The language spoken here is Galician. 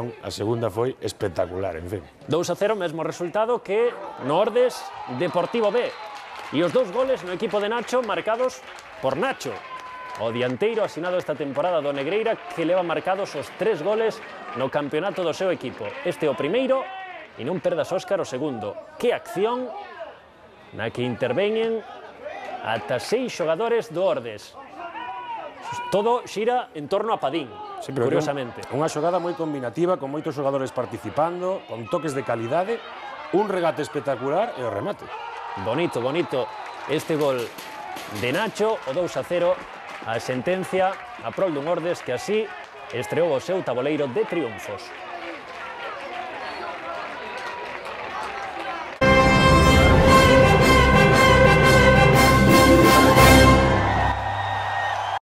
ocasión, a segunda foi espectacular, en fin. 2-0, mesmo resultado que no Ordes Deportivo B. E os dous goles no equipo de Nacho marcados por Nacho, o dianteiro asinado esta temporada do Negreira, que leva marcados os 3 goles no campeonato do seu equipo. Este o primeiro, e non perdas, Óscar, o segundo. Que acción na que interveñen ata 6 xogadores do Ordes. Todo xira en torno a Padín, sí, curiosamente. Unha xogada moi combinativa, con moitos xogadores participando, con toques de calidade, un regate espectacular e o remate. Bonito, bonito este gol de Nacho, o 2-0, a sentencia a prol dun Ordes que así estreou o seu taboleiro de triunfos.